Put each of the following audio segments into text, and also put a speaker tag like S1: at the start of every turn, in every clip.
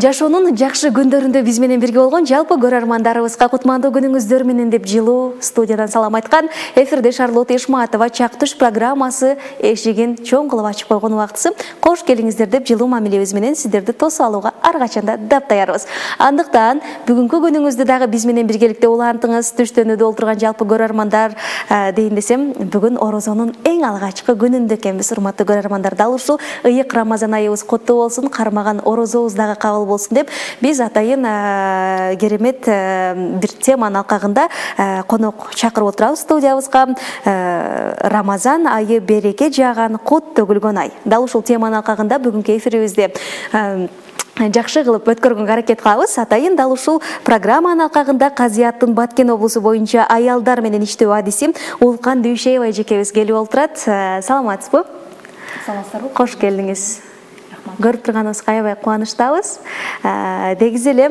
S1: Жашоонун жакшы күндөрүндө биз менен бирге болгон жалпы көрөрмандарыбызга кутмандуу күнүңүздөр менен деп жылуу студиядан салам айткан эфирде Шарлотта Ишматова Чак Туш программасы эшигин чоң кылып ачып койгон убактысы. Кош келиңиздер деп жылуу мамилебиз менен сиздерди тосуп алууга ар качанда даптаярбыз. Андыктан бүгүнкү күнүңүздү дагы биз менен биргеликте улантыңыз. Түштөнүүдө олтурган жалпы көрөрмандар дейин десем, бүгүн орозонун эң алгачкы күнүндө экенбиз. Урматтуу көрөрмандар, дал ушул ыйык Рамазан айыбыз куттуу болсун, кармаган орозобуз дагы кабыл болсун деп биз атайын керемет бир теманын алкагында конок чакырып отурабыз студиябызга. Рамазан айы береке жааган, кут төгүлгөн ай. Дал ушул теманын алкагында бүгүнкү эфирибизде жакшы кылып өткөргөнгө аракет кылабыз. Атайын дал ушул программанын алкагында Казияттын Баткен облусу боюнча аялдар менен иштөө адиси Улкан Дүйшеева эжекебиз келип олтурат. Саламатсызбы?
S2: Саламатсыздарбы?
S1: Кош келдиңиз. Көрүп турганыбызга аябай кубанычтабыз. Дегиз эле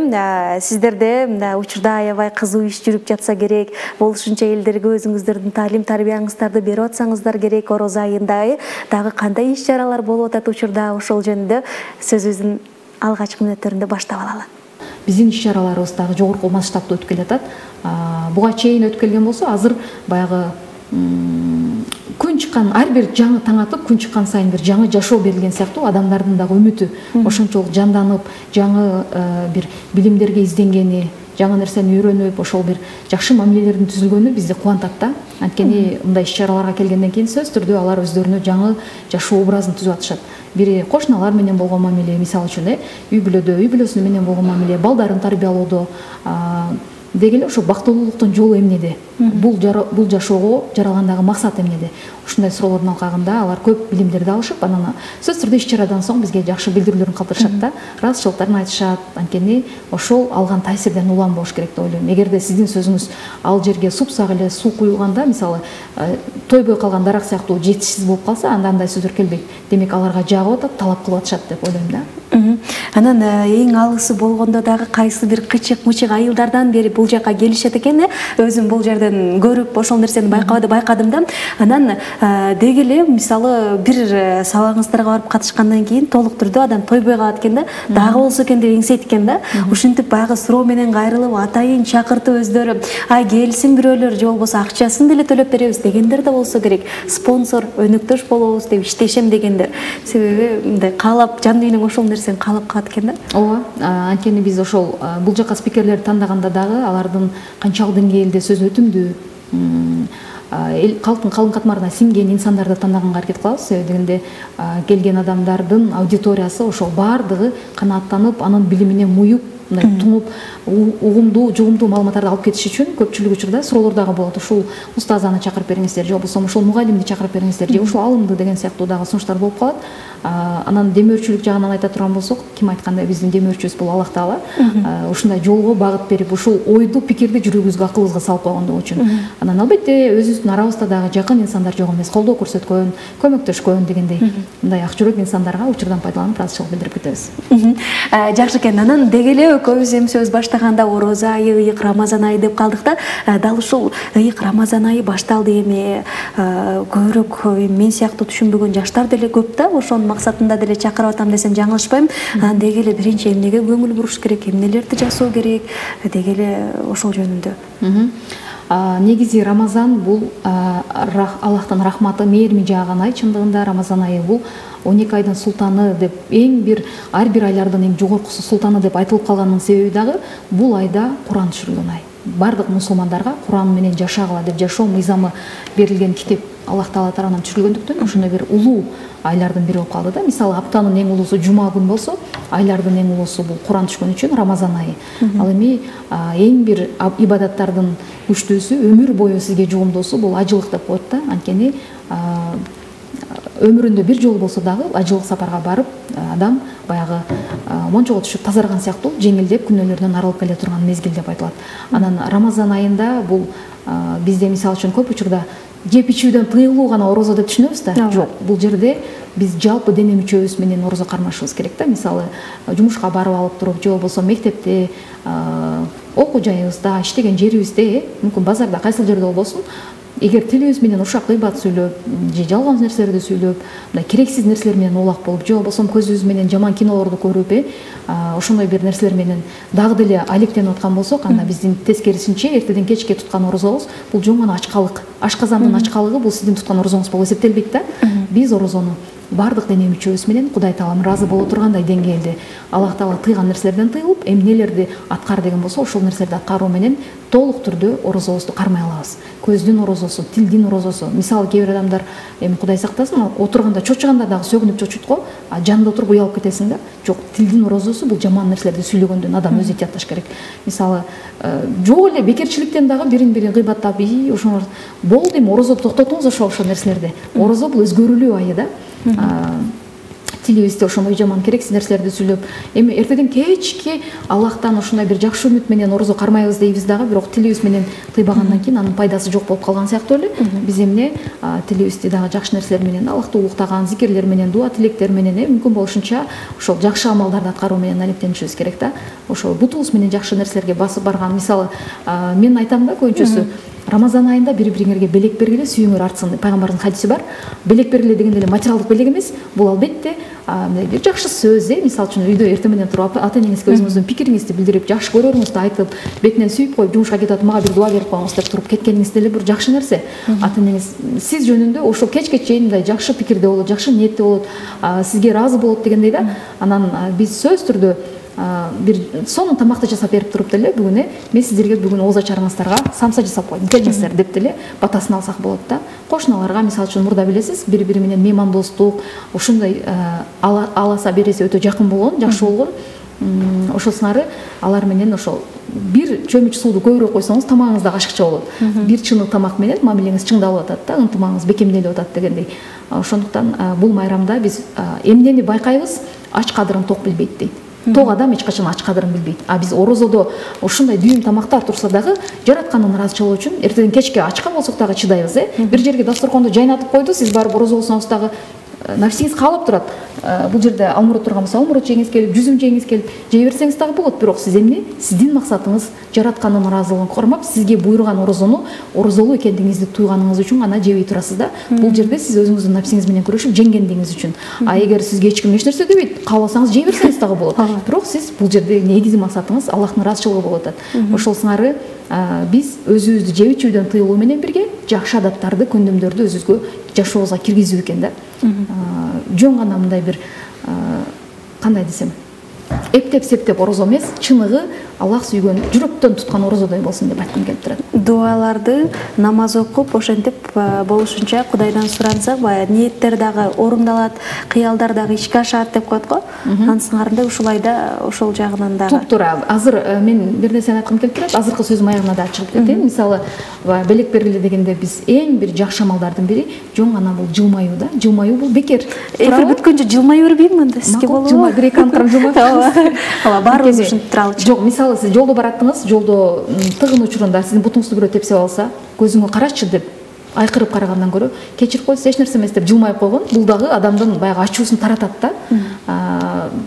S1: сиздерде учурда аябай кызуу иш жүрүп жатса керек, болушунча элдерге өзүңүздөрдүн таалим тарбияңыздарды берип атсаңыздар керек. Орозо айында дагы кандай иш чаралар болуп атат учурда, ошол жөнүндө сөзүбүздүн алгачкы мүнөттөрүндө баштап алалы.
S2: Биздин иш чараларыбыз дагы жогорку масштабта өтүп келатат. Буга чейин өтүп келген болсо, азыр баягы күн чыккан, ар бир жаңы таң атып, күн чыккан сайын бир жаңы жашоо берилген сыяктуу адамдардын дагы үмүтү ошончолук жанданып, жаңы бир билимдерге изденгени, жаңы нерсени үйрөнүп, ошол бир жакшы мамилелердин түзүлгөнү бизди кубантат да. Анткени мындай иш чараларга келгенден кийин сөзсүз түрдө алар өздөрүнө жаңы жашоо образын түзүп атышат. Бири кошуналар менен болгон мамиле, мисалы үчүн үй бүлөдө, үй бүлөсү менен болгон мамиле, балдарын тарбиялоодо дегеле ошо бактылуулуктун жолу эмнеде? Бул жашоого жаралгандагы максат эмнеде? Ушундай суроолордун алкагында алар көп билимдерди алышып, анан сөзсүз түрдө иш чарадан соң бизге жакшы билдирүүлөрүн калтырышат да, ыраазычылыктарын айтышат. Анткени ошол алган таасирден улам болуш керек деп ойлойм. Эгерде сиздин сөзүңүз ал жерге супсак эле суу куюлганда, мисалы, тойбой калган дарак сыяктуу жетишсиз болуп калса, анда андай сөздөр келбейт. Демек аларга жагып атат, талап кылып атышат деп ойлойм да.
S1: Анан эң алысы болгондо дагы кайсы бир кычык-мычык айылдардан бери бул жака келишет экен. Өзүм бул жерден көрүп ошол нерсени байкадым да. Анан дегеле мисалы бир сабагыңыздарга барып катышкандан кийин толук түрдө адам тойбой калат экен да. Дагы болсо экен деп эңсейт экен да. Ушинтип баягы суроо менен кайрылып, атайын чакыртып өздөрү келсин бирөөлөр, же болбосо акчасын деле төлөп беребиз дегендер да болсо керек. Спонсор, өнөктөш болобуз деп иштешем дегендер. Себеби мындай каалап, жан дүйнөң ошол нерсени каалап калат экен да.
S2: Ооба, анткени биз ошол бул жака спикерлерди тандаганда дагы алардын канчалык деңгээлде сөз өтүмдүү, калктын калың катмарына сиңген инсандарды тандаганга аракет кылабыз. Себеби дегенде келген адамдардын аудиториясы ошол баардыгы канааттанып, анын билимине муюп, мындай туңуп, угумдуу, жугумдуу маалыматтарды алып кетиш үчүн көпчүлүк учурда суроолор дагы болот. Ушул устазаны чакырып бериңиздер, же болбосо ушул мугалимди чакырып бериңиздер, же ушул алымды деген сыяктуу дагы сунуштар болуп калат. Анан демөөрчүлүк жагынан айта турган болсок, ким айткандай биздин демөөрчүбүз бул Аллах Таала. Ушундай жолго багыт берип, ушул ойду, пикирди жүрөгүбүзгө, акылыбызга салып койгондугу үчүн. Анан албетте өзүбүздүн арабызда дагы жакын инсандар жок эмес, колдоо көрсөткөн, көмөктөшкөн дегендей мындай ак жүрөк инсандарга учурдан пайдаланып ыраазычылык билдирип кетебиз.
S1: Жакшы экен. Анан дегеле экөөбүз эми сөз баштаганда орозо айы, ыйык Рамазан айы деп калдык да. Дал ушул ыйык Рамазан айы башталды эми көбүрөөк мен сыяктуу түшүнбөгөн жаштар деле көп да. Ошонун максатында деле чакырып атам десем жаңылышпайм. Анан дегеле биринчи эмнеге көңүл буруш керек, эмнелерди жасоо керек, дегеле ошол жөнүндө.
S2: Негизи Рамазан бул Аллахтын рахматы, мээрими жааган ай. Чындыгында Рамазан айы бул 12 айдын султаны деп, ар бир айлардын эң жогоркусу султаны деп айтылып калганынын себеби дагы бул айда Куран түшүрүлгөн ай. Бардык мусулмандарга Куран менен жашагыла деп жашоо мыйзамы берилген китеп Аллах Таала тарабынан түшүрүлгөндүктөн ошондой бир улуу айлардын бири болуп калды да. Мисалы, аптанын эң улуусу жума күн болсо, айлардын эң улуусу бул Куран түшкөн үчүн Рамазан айы. Ал эми эң бир ибадаттардын күчтүүсү, өмүр бою сизге жугумдуусу бул ажылык деп коет да. Анткени өмүрүндө бир жолу болсо дагы ажылык сапарга барып, адам баягы мончого түшүп тазарган сыяктуу жеңилдеп күнөөлөрдөн арылып келе турган мезгил деп айтылат. Анан Рамазан айында бул бизде мисалы үчүн көп учурда жеп ичүүдөн тыюлуу гана орозо деп түшүнөбүз да. Жок, бул жерде биз жалпы дене мүчөбүз менен орозо кармашыбыз керек да. Мисалы, жумушка барып алып туруп, же болбосо мектепте, окуу жайыбызда, иштеген жерибизде, мүмкүн базарда, кайсыл жерде болбосун, эгер тилибиз менен ушак гыйбат сүйлөп же жалган нерселерди сүйлөп, мындай керексиз нерселер менен улак болуп, же болбосо көзүбүз менен жаман кинолорду көрүп, ошондой бир нерселер менен дагы деле алектенип аткан болсок, анда биздин тескерисинче эртеден кечке туткан орозобуз бул жөн гана ачкалык. Ашказандын ачкалыгы бул сиздин туткан орозоңуз болуп эсептелбейт да. Биз орозону бардык дене мүчөбүз менен Кудай Таалам ыраазы боло тургандай деңгээлде Аллах Таала тыйган нерселерден тыйылып, эмнелерди аткар деген болсо, ошол нерселерди аткаруу менен толук түрдө орозобузду кармай алабыз. Көздүн орозосу, тилдин орозосу. Мисалы кээ бир адамдар эми Кудай сактасын, отурганда чочуганда дагы сөгүнүп чочут го, жанында отуруп уялып кетесиң да. Жок, тилдин орозосу бул жаман нерселерди сүйлөгөндөн адам өзү ыятташ керек. Мисалы, жок эле бекерчиликтен дагы бирин-бирин гыйбаттап, ошолор болду эми орозо токтотуңуз ошол нерселерди. Орозо бул өзгөрүлүү айы да. Тилибизде ошондой жаман керексиз нерселерди сүйлөп, эми эртеден кечки Аллахтан ушундай бир жакшы үмүт менен орозо кармайбыз дейбиз дагы, бирок тилибиз менен тыйбагандан кийин анын пайдасы жок болуп калган сыяктуу эле. Биз эмне тилибизди дагы жакшы нерселер менен, Аллахты улуктаган зикирлер менен, дуа тилектер менен, мүмкүн болушунча ошол жакшы амалдарды аткаруу менен алектенишибиз керек да. Ошол бутубуз менен жакшы нерселерге басып барган. Мисалы, мен айтам да көбүнчөсү Рамазан айында бири-бириңерге белек бергиле, сүйүүңөр артсын. Пайгамбардын хадиси бар. Белек бергиле дегенде эле материалдык белек эмес, бул албетте мындай бир жакшы сөз, мисалы үчүн үйдө эртең менен туруп ата-энеңизге өзүңүздүн пикириңизди билдирип, жакшы көрөрүңүздү айтып, бетинен сүйүп коюп, жумушка кетип атып, мага бир дуа берип коюңуз деп туруп кеткениңиз деле бир жакшы нерсе. Ата-энеңиз сиз жөнүндө ошол кечке чейин мындай жакшы пикирде болот, жакшы ниетте болот, сизге ыраазы болот дегендей да. Анан биз сөз түрдө бир сонун тамакты жасап берип туруп деле бүгүн мен сиздерге бүгүн ооз ачарыңыздарга самса жасап койдум, келиңиздер деп деле батасын алсак болот да. Кошуналарга мисалы үчүн мурда билесиз, бири-бири менен меймандостук, ушундай аласа бересе өтө жакын болгон, жакшы болгон. Ошол сыңары алар менен ошол бир чөмүч сууду көбүрөөк койсоңуз тамагыңыз дагы ашыкча болот. Бир чынык тамак менен мамилеңиз чыңдалып атат да, ынтымагыңыз бекемделип атат дегендей. Ошондуктан бул майрамда биз эмнени байкайбыз? Ач кадырын ток билбейт дейт. Ток адам эч качан ач кадырын билбейт. Биз орозодо ушундай дүйүм тамактар турса дагы жараткандын ыраазычылыгы үчүн эртеден кечке ачка болсок дагы чыдайбыз. Бир жерге дасторконду жайнатып койду, сиз барып орозо болсоңуз дагы нафсиңиз каалап турат. Бул жерде алмурут турган болсо алмурут жеңиз келип, жүзүм жеңиз келип, жей берсеңиз дагы болот. Бирок сиз эмне? Сиздин максатыңыз жараткандын ыраазылыгын кармап, сизге буйруган орозону орозолуу экендигиңизди туйганыңыз үчүн гана жебей турасыз да. Бул жерде сиз өзүңүздүн нафсиңиз менен күрөшүп жеңгендигиңиз үчүн. Эгер сизге эч ким эч нерсе дебейт, кааласаңыз жей берсеңиз дагы болот. Бирок сиз бул жерде негизи максатыңыз Аллахтын ыраазычылыгы болуп атат. Ошол сыңары биз өзүбүздү жеп ичүүдөн тыйылуу менен бирге жакшы адаттарды, көндөмдөрдү өзүбүзгө жашообузга киргизүү экен да. Жөн гана мындай бир кандай десем, эптеп-септеп орозо эмес, чыныгы Аллах сүйгөн, жүрөктөн туткан орозодой болсун деп айткым келип турат.
S1: Дуаларды намаз окуп, ошентип болушунча Кудайдан сурансак, баягы ниеттер дагы орундалат, кыялдар дагы ишке ашат деп коет го. Анын сыңарында ушулайда ошол жагынан дагы.
S2: Туптура. Азыр мен бир нерсени айткым келип турат. Азыркы сөзүм аягына да чыгып кетейин. Мисалы, белек бергиле дегенде биз эң бир жакшы амалдардын бири жөн гана бул жылмаюу да. Жылмаюу бул бекер.
S1: Эфир бүткөнчө жылмай бербейинби анда сизге болобу?
S2: Жылмай, бир эки анткан жылмап.
S1: Ооба, баарыбыз ушинтип туралычы.
S2: Жок, мисалы сиз жолдо бараттыңыз, жолдо тыгын учурунда сиздин бутуңузду бирөө тепсеп алса, көзүңө карачы деп айкырып карагандан көрө, кечирип койсо эч нерсе эмес деп жылмайып койгон, бул дагы адамдын баягы ачуусун таратат да.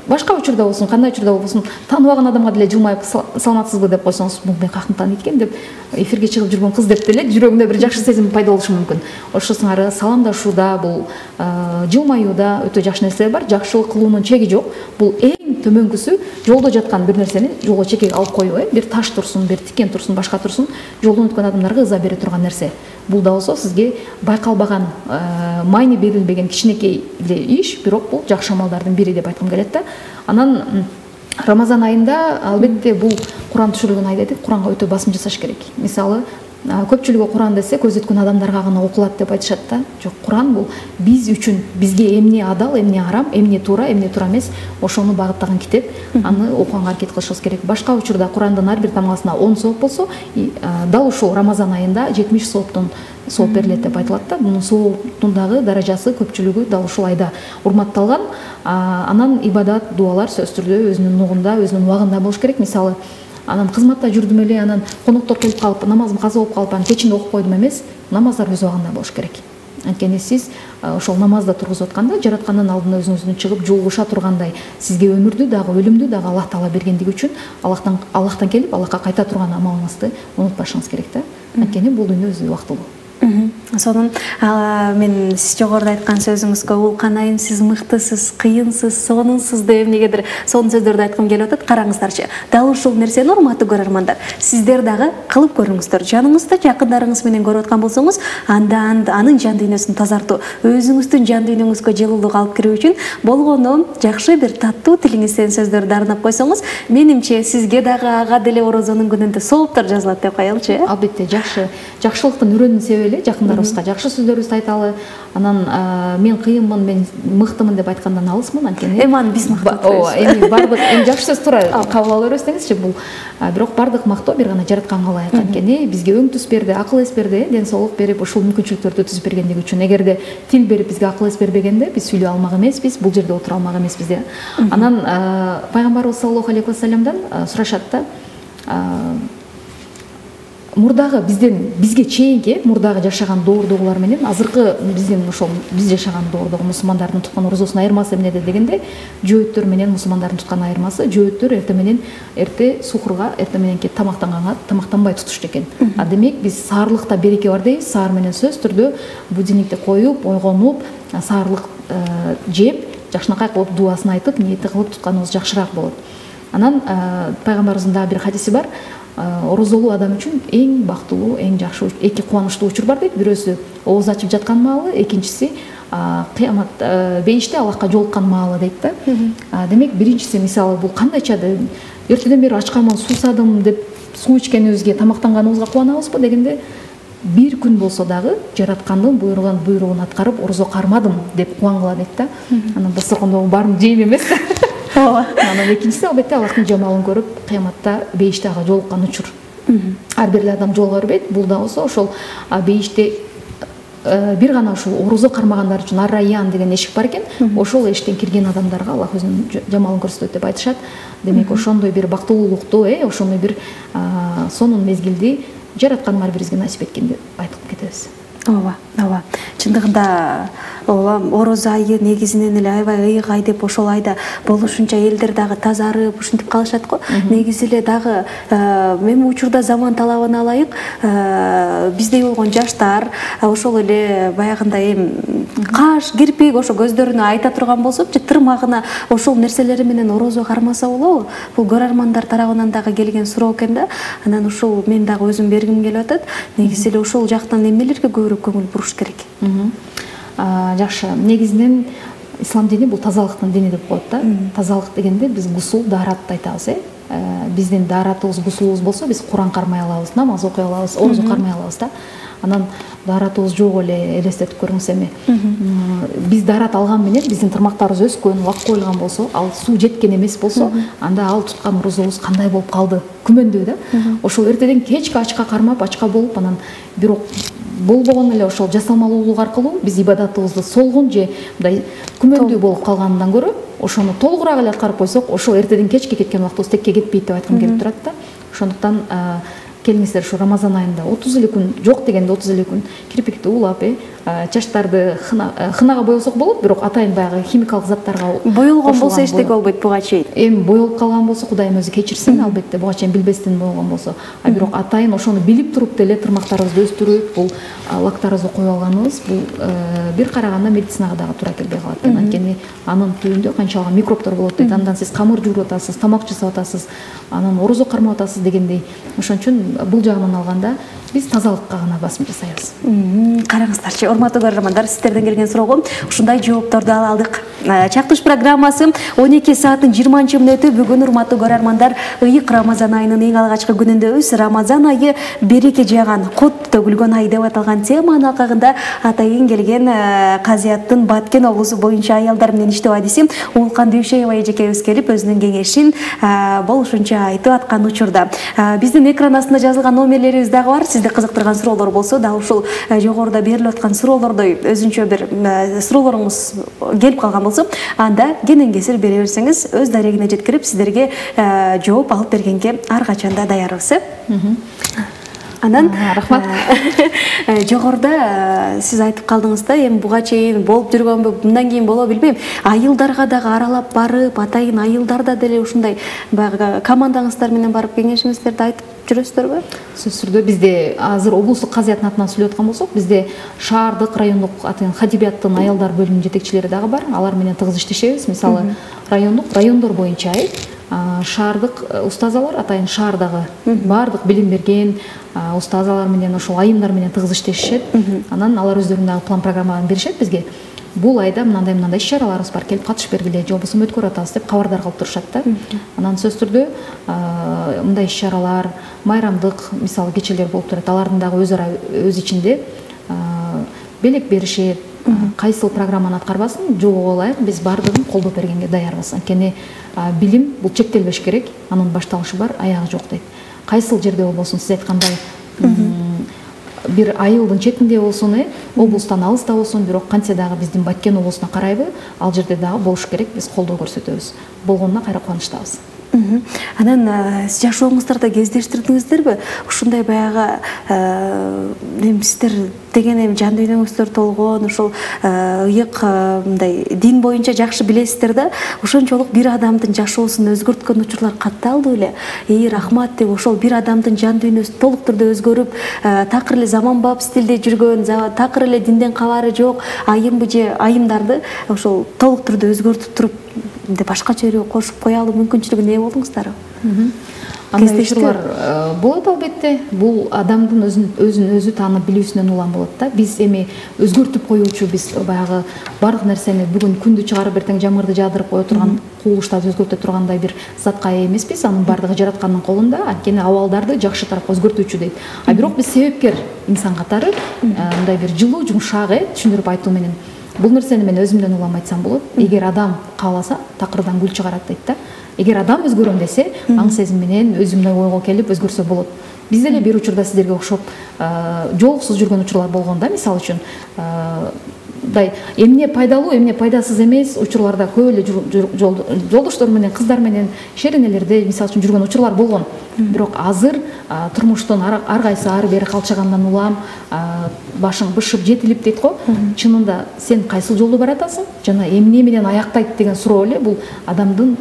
S2: Башка учурда болсун, кандай учурда болсун, тааныбаган адамга деле жылмайып саламатсызбы деп койсоңуз, бул мен каяктан тааныйт экен деп эфирге чыгып жүргөн кыз деп деле жүрөгүндө бир жакшы сезим пайда болушу мүмкүн. Ошол сыңары саламдашууда, бул жылмаюуда өтө жакшы нерселер бар. Жакшылык кылуунун чеги жок. Бул эң төмөнкүсү жолдо жаткан бир нерсени жолго чекеге алып коюу, бир таш турсун, бир тикен турсун, башка турсун, жолдон өткөн адамдарга ыза бере турган нерсе. Бул да болсо сизге байкалбаган, майни берилбеген кичинекей эле иш, бирок бул жакшы амалдардын бири деп айткым келет да. Анан Рамазан айында албетте бул Куран түшүрүлгөн ай дедик, Куранга өтө басым жасаш керек. Мисалы, көпчүлүгү Куран десе көз өткөн адамдарга гана окулат деп айтышат да. Жок, Куран бул биз үчүн, бизге эмне адал, эмне арам, эмне туура эмес, ошону багыттаган китеп. Аны окуганга аракет кылышыбыз керек. Башка учурда Курандын ар бир тамгасына 10 сооп болсо, дал ушул Рамазан айында 70 сооптон сооп берилет деп айтылат да. Мунун сооптун дагы даражасы көпчүлүгү дал ушул айда урматталган. Анан ибадат, дуалар сөз түрдө өзүнүн нугунда, өзүнүн убагында болуш керек. Мисалы, анан кызматта жүрдүм эле, анан коноктор келип калып, намазым каза болуп калып, анан кечинде окуп койдум эмес, намаздар өз убагында болуш керек. Анткени сиз ошол намазда тургузуп атканда жараткандын алдына өзүңүздүн чыгып жолугуша тургандай, сизге өмүрдү дагы өлүмдү дагы Аллах Таала бергендиги үчүн Аллахтан келип Аллахка кайта турган амалыңызды унутпашыңыз керек да. Анткени бул дүйнө өзү убактылуу.
S1: Сонун мен сиз жогоруда айткан сөзүңүзгө улкан айым сиз мыктысыз, кыйынсыз, сонунсуз деп эмнегедир сонун сөздөрдү айткым келип атат. Караңыздарчы, дал ушул нерсени урматтуу көрөрмандар, сиздер дагы кылып көрүңүздөр. Жаныңызда жакындарыңыз менен көрүп аткан болсоңуз, анда анын жан дүйнөсүн тазартуу, өзүңүздүн жан дүйнөңүзгө жылуулук алып кирүү үчүн болгону жакшы бир таттуу тилиңизден сөздөрдү арнап койсоңуз, менимче сизге дагы ага деле орозонун күнүндө сооптор жазылат деп коелучу.
S2: Албетте, жакшылыктын үрөнүн себели жакындарыбызга жакшы сөздөрүбүздү айталы. Анан мен кыйынмын, мен мыктымын деп айткандан алысмын, анткени
S1: Аны биз мактап
S2: эми бардык жакшы сөз туура кабыл ала беребиз деңизчи. Бул бирок бардык мактоо бир гана жаратканга ылайык. Анткени бизге өң түс берди, акыл эс берди, ден соолук берип, ушул мүмкүнчүлүктөрдү түзүп бергендиги үчүн. Эгерде тил берип бизге акыл эс бербегенде биз сүйлөй алмак эмеспиз, бул жерде отура алмак эмеспиз да. Анан пайгамбарыбыз саллаллаху алейхи вассаламдан сурашат да, мурдагы бизге чейинки мурдагы жашаган доордогулар менен азыркы биздин ошол биз жашаган доордогу мусулмандардын туткан орозосунун айырмасы эмнеде дегенде, жөөттөр менен мусулмандардын туткан айырмасы, жөөттөр эрте сухурга, эрте мененки тамактанганга тамактанбай тутушту экен. Демек биз саарлыкта береке бар дейбиз. Саар менен сөзсүз түрдө будильникти коюп, ойгонуп, саарлык жеп, жакшынакай кылып дубасын айтып, ниети кылып тутканыбыз жакшыраак болот. Анан пайгамбарыбыздын дагы бир хадиси бар. Орозолуу адам үчүн эң бактылуу, эң жакшы эки кубанычтуу учур бар дейт. Бирөөсү ооз ачып жаткан маалы, экинчиси кыямат бейиште Аллахка жолуккан маалы дейт да. Демек биринчиси мисалы бул кандайча эртеден бери ач карман суусадым деп суу ичкенибизге, тамактанганыбызга кубанабызбы дегенде, бир күн болсо дагы жараткандын буйругун аткарып орозо кармадым деп кубангыла дейт да. Анан дасторкондогу баарын жейм эмес. Анан экинчиси албетте Аллахтын жамалын көрүп, кыяматта бейиште ага жолуккан учур. Ар бир адам жолуга бербейт. Бул да болсо ошол бейиште бир гана ушул орозо кармагандар үчүн ар-райян деген эшик бар экен. Ошол эшиктен кирген адамдарга Аллах өзүнүн жамалын көрсөтөт деп айтышат. Демек ошондой бир бактылуулукту, ошондой бир сонун мезгилди жараткан ар бирибизге насип эткен деп айтып кетебиз.
S1: Ооба. Чындыгында орозо айы негизинен эле аябай ыйык ай деп, ошол айда болушунча элдер дагы тазарып, ушинтип калышат го. Негизи эле дагы эми учурда заман талабына ылайык биздей болгон жаштар ошол эле баягындай каш, кирпик ошо көздөрүнө айта турган болсо, тырмагына ошол нерселери менен орозо кармаса болобу? Бул көрөрмандар тарабынан дагы келген суроо экен да. Анан ушул мен дагы өзүм бергим келип атат. Негизи эле ошол жактан эмнелерге көбүрөөк көңүл буруш керек?
S2: Жакшы. Негизинен ислам дини бул тазалыктын дини деп коет да. Тазалык дегенде биз гусул, дааратты айтабыз, Биздин дааратыбыз, гусулубуз болсо, биз Куран кармай алабыз, намаз окуй алабыз, орозо кармай алабыз да. Анан дааратыбыз жок эле элестетип көрүңүз эми. Биз даарат алган менен биздин тырмактарыбыз өскөн, лак коюлган болсо, ал суу жеткен эмес болсо, анда ал туткан орозобуз кандай болуп калды? Күмөндүү да. Ошол эртеден кечке ачка кармап, ачка болуп, анан бирок болбогон эле ошол жасалмалуулук аркылуу биз ибадатыбызды солгун же мындай күмөндүү болуп калгандан көрө, ошону толугураак эле аткарып койсок, ошол эртеден кечке кеткен убактыбыз текке кетпейт деп айткым келип турат да. Ошондуктан келиңиздер ушу Рамазан айында 30 эле күн, жок дегенде 30 эле күн кирпикти улап, чачтарды хынага боесок болот, бирок атайын баягы химикалык заттарга
S1: боелгон болсо эчтеке болбойт буга чейин.
S2: Эми боелуп калган болсо Кудайым өзү кечирсин, албетте буга чейин билбестен болгон болсо. Бирок атайын ошону билип туруп деле тырмактарыбызды өстүрүп, бул лактарыбызды коюп алганыбыз бул бир караганда медицинага дагы туура келбей калат. Анткени анын түбүндө канчалык микробдор болот дейт. Андан сиз камыр жууруп атасыз, тамак жасап атасыз, анан орозо кармап атасыз дегендей. Ошон үчүн бул жагынан алганда биз тазалыкка гана басым жасайбыз.
S1: Караңыздарчы, урматтуу көрөрмандар, сиздерден келген суроого ушундай жоопторду ала алдык. Чактыш программасы 12 сааттын 20 мүнөтү. Бүгүн урматтуу көрөрмандар, ыйык Рамазан айынын эң алгачкы күнүндөбүз. Рамазан айы береке жаган, кут төгүлгөн ай деп аталган теманын алкагында атайын келген Казияттын Баткен облусу боюнча аялдар менен иштөө адиси Улкан Дүйшеева эжекебиз келип өзүнүн кеңешин болушунча айтып аткан учурда биздин экран астында жазылган номерлерибиз дагы бар. Сизди кызыктырган суроолор болсо, дал ушул жогоруда берилип аткан суроолордой өзүнчө бир суроолоруңуз келип калган болсо, анда кенен кесир бере берсеңиз, өз дарегине жеткирип сиздерге жооп алып бергенге ар качанда даярбыз. Анан
S2: рахмат.
S1: Жогоруда сиз айтып калдыңыз да, эми буга чейин болуп жүргөнбү, мындан кийин болобу билбейм. Айылдарга дагы аралап барып, атайын айылдарда деле ушундай баягы командаңыздар менен барып кеңешиңиздерди айтып жүрөсүздөрбү?
S2: Сөзсүз түрдө бизде азыр облустук казыяттын атынан сүйлөп аткан болсок, бизде шаардык, райондук хадибияттын аялдар бөлүмүнүн жетекчилери дагы бар. Алар менен тыгыз иштешебиз. Мисалы, райондор боюнча шаардык устазалар, атайын шаардагы баардык билим берген устазалар менен, ошол айымдар менен тыгыз иштешишет. Анан алар өздөрүнүн дагы план программаны беришет бизге. Бул айда мындай иш-чараларыбыз бар, келип катышып бергиле, же болбосо өткөрүп атабыз деп кабардар кылып турушат да. Анан сөзсүз түрдө мындай иш-чаралар, майрамдык мисалы кечелер болуп турат. Алардын дагы өз ичинде белек беришет. Кайсыл программаны аткарбасын, жогоо ылайык биз баардыгын колдоп бергенге даярбыз. Анткени билим бул чектелбеш керек, анын башталышы бар, аягы жок дейт. Кайсыл жерде болбосун, сиз айткандай бир айылдын четинде болсун, облустан алыста болсун, бирок кантсе дагы биздин Баткен облусуна карайбы, ал жерде дагы болуш керек, биз колдоо көрсөтөбүз. Болгонуна кайра кубанычтабыз.
S1: Анан жашооңуздарда кездештирдиңиздерби? Ушундай баягы сиздер деген жан дүйнөңүздөр толгон, ошол ыйык мындай дин боюнча жакшы билесиздер да, ошончолук бир адамдын жашоосун өзгөрткөн учурлар катталды беле? Рахмат деп ошол бир адамдын жан дүйнөсү толук түрдө өзгөрүп, такыр эле заманбап стилде жүргөн, такыр эле динден кабары жок айымбы же айымдарды ошол толук түрдө өзгөртүп туруп башкача өрөө кошуп кое алуу мүмкүнчүлүгүнө ээ болдуңуздарбы?
S2: Андай учурлар болот албетте. Бул адамдын өзүн өзү таанып билүүсүнөн улам болот да. Биз эми өзгөртүп коюучу, биз баягы бардык нерсени бүгүн күндү чыгарып эртең жамгырды жаадырып кое турган, кубулуштарды өзгөртө тургандай бир затка ээ эмеспиз. Анын бардыгы жараткандын колунда. Анткени абалдарды жакшы тарапка өзгөртүүчү дейт. А бирок биз себепкер инсан катары мындай бир жылуу, жумшак түшүндүрүп айтуу менен бул нерсени мен өзүмдөн улам айтсам болот. Эгер адам кааласа, такырдан гүл чыгарат дейт да. Эгер адам өзгөрөм десе, аң сезим менен өзүмдөй ойго келип өзгөрсө болот. Биз деле бир учурда сиздерге окшоп жолуксуз жүргөн учурлар болгон да, мисалы үчүн мындай эмне пайдалуу, эмне пайдасыз эмес учурларда көп эле жолдоштор менен, кыздар менен шеренелерде мисалы үчүн жүргөн учурлар болгон. Бирок азыр турмуштун ар кайсы ары бери калчагандан улам башың бышып жетилип дейт го. Чынында сен кайсыл жолдо баратасың жана эмне менен аяктайт деген суроо эле бул адамдын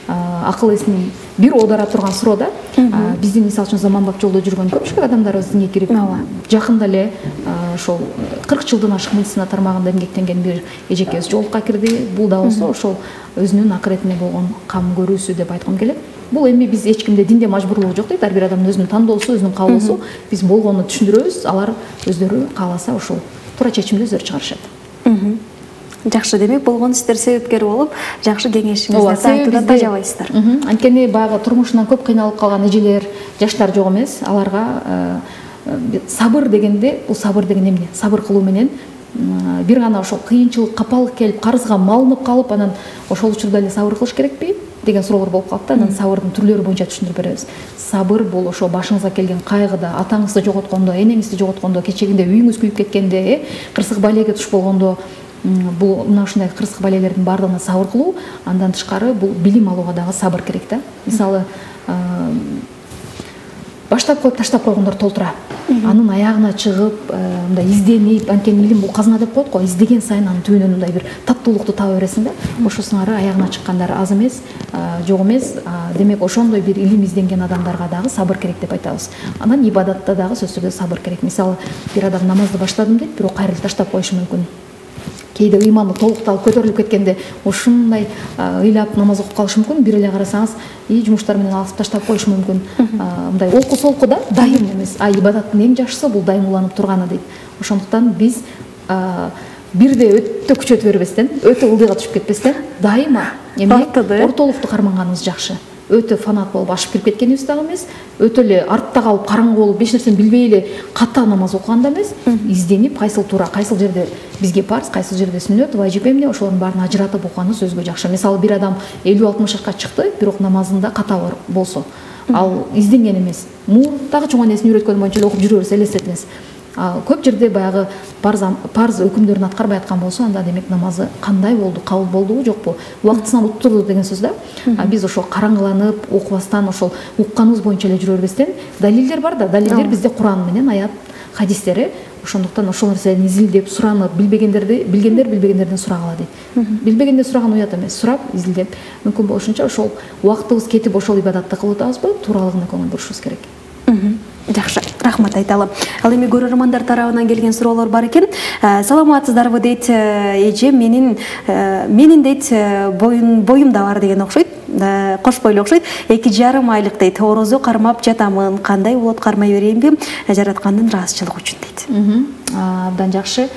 S2: акыл эсинин бир оодара турган суроо да. Биздин мисалы үчүн заманбап жолдо жүргөн көпчүлүк адамдарыбыз динге кирип, жакында эле ошол 40 жылдан ашык медицина тармагында эмгектенген бир эжекебиз жолукка кирди. Бул да болсо ошол өзүнүн акыретине болгон кам көрүүсү деп айткым келет. Бул эми биз эч кимде динде мажбурлугу жок дейт. Ар бир адамдын өзүнүн тандоосу, өзүнүн каалоосу. Биз болгонун түшүндүрөбүз, алар өздөрү кааласа ошол туура чечимди өздөрү чыгарышат.
S1: Жакшы, демек болгону сиздер себепкер болуп, жакшы кеңешиңизди айтуудан тажабайсыздар.
S2: Анткени баягы турмушунан көп кыйналып калган эжелер, жаштар жок эмес. Аларга сабыр дегенде, бул сабыр деген эмне? Сабыр кылуу менен бир гана ошол кыйынчылык, капалык келип, карызга малынып калып, анан ошол учурда эле сабыр кылыш керекпи деген суроолор болуп калат да. Анан сабырдын түрлөрү боюнча түшүндүрүп беребиз. Сабыр бул ошо башыңызга келген кайгыда, атаңызды жоготкондо, энеңизди жоготкондо, кечегинде үйүңүз күйүп кеткенде, кырсык балеге туш болгондо, бул мына ушундай кырсык балелердин баардыгына сабыр кылуу. Андан тышкары бул билим алууга дагы сабыр керек да. Мисалы, баштап коюп таштап койгондор толтура. Анын аягына чыгып, мындай изденип, анткени илим бул казына деп коет го, издеген сайын анын түбүнөн мындай бир таттуулукту таба бересиң да. Ошо сыңары аягына чыккандар аз эмес, жок эмес. Демек ошондой бир илим изденген адамдарга дагы сабыр керек деп айтабыз. Анан ибадатта дагы сөзсүз түрдө сабыр керек. Мисалы, бир адам намазды баштадым дейт, бирок кайра таштап коюшу мүмкүн. Кейде ыйманы толукталып көтөрүлүп кеткенде ушундай ыйлап намаз окуп калышы мүмкүн. Бир эле карасаңыз, жумуштар менен алып таштап коюшу мүмкүн. Мындай олку-солку да, дайым эмес. Ибадаттын эң жакшысы бул дайым уланып турганы дейт. Ошондуктан биз бирде өтө күчөтүп бербестен, өтө ылдыйга түшүп кетпестен, дайыма ортолукту карманганыбыз жакшы. Өтө фанат болуп ашып кирип кеткенибиз дагы эмес, өтө эле артта калып караңгы болуп эч нерсени билбей эле ката намаз окуган да эмес, изденип кайсыл туура, кайсыл жерде бизге парз, кайсыл жерде сүннөт, важип эмне, ошолордун баарын ажыратып окуганыбыз өзгө жакшы. Мисалы, бир адам 50-60 жашка чыкты, бирок намазында ката болсо, ал изденген эмес. Мурдагы чоң энесин үйрөткөн боюнча эле окуп жүрө берсе элестет эмес. Көп жерде баягы парз өкүмдөрүн аткарбай аткан болсо, анда демек намазы кандай болду, кабыл болдубу, жокпу, убактысынан уттурду деген сөз да. Биз ошол караңгыланып, окубастан, ошол укканыбыз боюнча эле жүрө бербестен, далилдер бар да, далилдер бизде Куран менен, аят, хадистери, ошондуктан ошол нерсени изилдеп суранып билгендер билбегендерден сурагыла дейт. Билбегенде сураган уят эмес, сурап изилдеп мүмкүн болушунча ошол убактыбыз кетип ошол ибадатты кылып атабызбы, тууралыгына көңүл бурушубуз керек.
S1: Жакшы, рахмат айталы. Ал эми көрөрмандар тарабынан келген суроолор бар экен. Саламатсыздарбы дейт эже, менин дейт боюм да бар деген окшойт. Кош бойлуу окшойт. 2,5 айлык дейт. Орозо кармап жатамын. Кандай болот, кармай берейинби? Жараткандын ыраазычылыгы үчүн дейт.
S2: Абдан жакшы.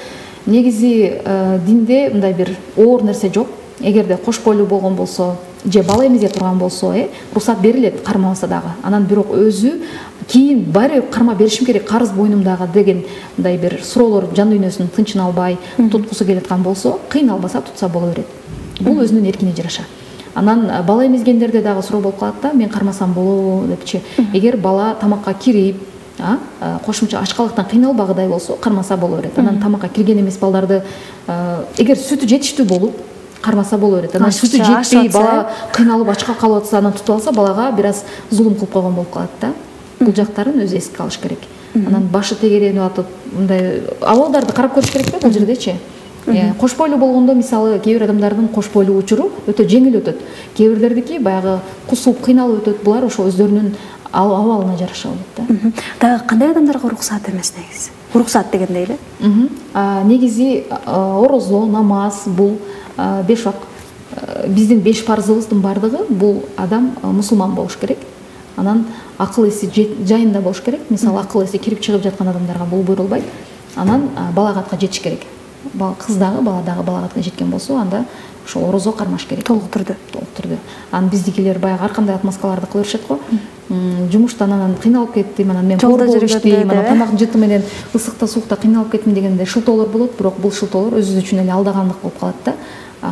S2: Негизи динде мындай бир оор нерсе жок. Эгерде кош бойлуу болгон болсо, же бала эмизе турган болсо, уруксат берилет кармабаса дагы. Анан бирок өзү кийин баары карма беришим керек, карыз боюнумдагы деген мындай бир суроолор жан дүйнөсүн тынчын албай, туткусу келаткан болсо, кыйналбаса тутса боло берет. Бул өзүнүн эркине жараша. Анан бала эмизгендерде дагы суроо болуп калат да, мен кармасам болобу депчи. Эгер бала тамакка кирип, кошумча ачкалыктан кыйналбагыдай болсо, кармаса боло берет. Анан тамакка кирген эмес балдарды эгер сүтү жетиштүү болуп кармаса боло берет. Анан сүтү жетпей бала кыйналып ачка калып атса, анан тутуп алса, балага бир аз зулум кылып койгон болуп калат да. Бул жактарын өзү эске алыш керек. Анан башы тегеренип атып, мындай абалдарды карап көрүш керек да бул жердечи. Кош бойлуу болгондо мисалы кээ бир адамдардын кош бойлуу учуру өтө жеңил өтөт. Кээ бирлердики баягы кусуп кыйналып өтөт. Булар ошо өздөрүнүн абалына жараша болот да.
S1: Дагы кандай адамдарга уруксат эмес негизи? Уруксат дегенде эле?
S2: Негизи орозо, намаз бул 5 убак. Биздин 5 парзыбыздын бардыгы бул адам мусулман болуш керек. Анан акыл эси жайында болуш керек. Мисалы акыл эси кирип чыгып жаткан адамдарга бул буйрулбайт. Анан балагатка жетиш керек. Кыз дагы бала дагы балагатка жеткен болсо, анда ошо орозо кармаш керек.
S1: Толук түрдө.
S2: Анан биздикилер баягы ар кандай отмазкаларды кыла беришет го. Жумуштан анан кыйналып кеттим, анан мен жолдо жүрүштүм, анан тамак жыты менен ысыкта суукта кыйналып кеттим дегенде шылтоолор болот, бирок бул шылтоолор өзү үчүн эле алдагандык болуп калат да.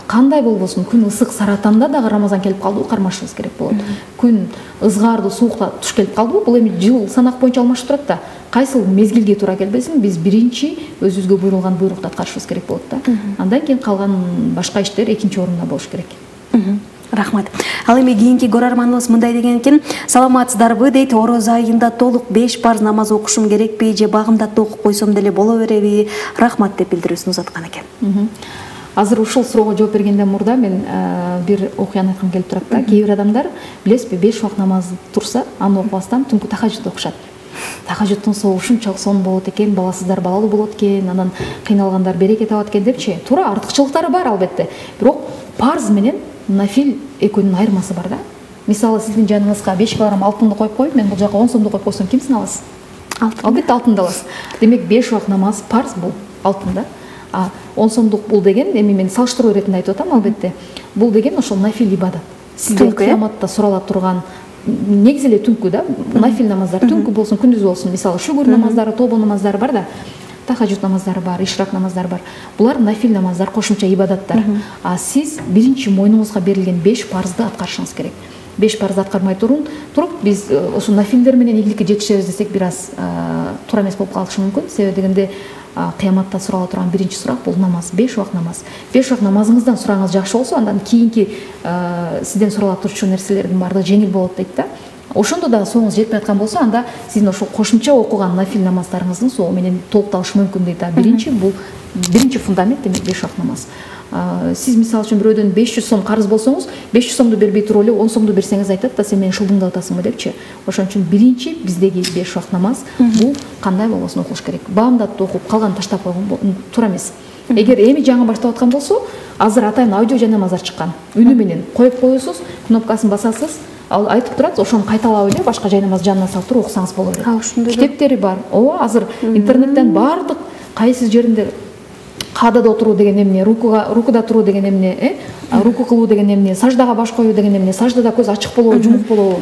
S2: Кандай болбосун, күн ысык саратанда дагы Рамазан келип калдыбы, кармашыбыз керек болот. Күн ызгаардуу суукта туш келип калдыбы, бул эми жыл санак боюнча алмашып турат да. Кайсыл мезгилге туура келбесин, биз биринчи өзүбүзгө буйрулган буйрукту аткарышыбыз керек болот да. Андан кийин калган башка иштер экинчи орунда болуш керек.
S1: Рахмат. Ал эми кийинки көрөрманыбыз мындай деген экен. Саламатсыздарбы дейт, орозо айында толук 5 парз намаз окушум керекпи, же багымдатты окуп койсом деле боло береби? Рахмат деп билдирүүсүн узаткан экен.
S2: Азыр ушул суроого жооп бергенден мурда мен бир окуяны айткым келип турат да. Кээ бир адамдар билесизби, 5 убак намаз турса, аны окубастан түнкү тахажжуд окушат. Тахажжудтун сообу ушунчалык сонун болот экен, баласыздар балалуу болот экен, анан кыйналгандар береке табат экен депчи. Туура, артыкчылыктары бар албетте. Бирок парз менен нафил экөөнүн айырмасы бар да. Мисалы сиздин жаныңызга 5 килограмм алтынды коюп коюп, мен бул жака 10 сомду коюп койсом, кимсин аласыз? Албетте алтынды аласыз. Демек 5 убак намаз парз бул алтын да. 10 сомдук бул деген, эми мен салыштыруу иретинде айтып атам албетте. Бул деген ошол нафил ибадат. Сизге кыяматта сурала турган негизи эле түнкү да, нафил намаздар түнкү болсун, күндүз болсун, мисалы шүгүр намаздары, тобо намаздары бар да. Тахажжуд намаздары бар, ишрак намаздары бар. Булар нафил намаздар, кошумча ибадаттар. Сиз биринчи мойнуңузга берилген 5 парзды аткарышыңыз керек. 5 парзды аткармай туруп, биз ошо нафилдер менен ийгиликке жетишебиз десек бир аз туура эмес болуп калышы мүмкүн. Себеби дегенде кыяматта сурала турган биринчи сурак бул намаз, 5 убак намаз. 5 убак намазыңыздан сурагыңыз жакшы болсо, андан кийинки сизден сурала турчу нерселердин баардыгы жеңил болот дейт да. Ошондо дагы сооңуз жетпей аткан болсо, анда сиздин ошол кошумча окуган нафил намаздарыңыздын соо менен толукталышы мүмкүн дейт да. Биринчи фундамент демек 5 убак намаз. Сиз мисалы үчүн бирөөдөн 500 сом карыз болсоңуз, 500 сомду бербей туруп эле 10 сомду берсеңиз айтат да, сен мени шылдыңдап атасыңбы депчи. Ошон үчүн биринчи биздеги 5 убак намаз бул кандай болбосун окулуш керек. Баамдатты окуп калган таштап койгон туура эмес. Эгер эми жаңы баштап аткан болсо, азыр атайын аудио жанамаздар чыккан. Үнү менен коюп коесуз, кнопкасын басасыз, ал айтып турат, ошону кайталап эле башка жай намаз жанына салып туруп окусаңыз боло берет. Китептери бар. Ооба, азыр интернеттен бардык кайсы жеринде каадада отуруу деген эмне, рукуда туруу деген эмне, руку кылуу деген эмне, саждага баш коюу деген эмне, саждада көз ачык болобу, жумук болобу,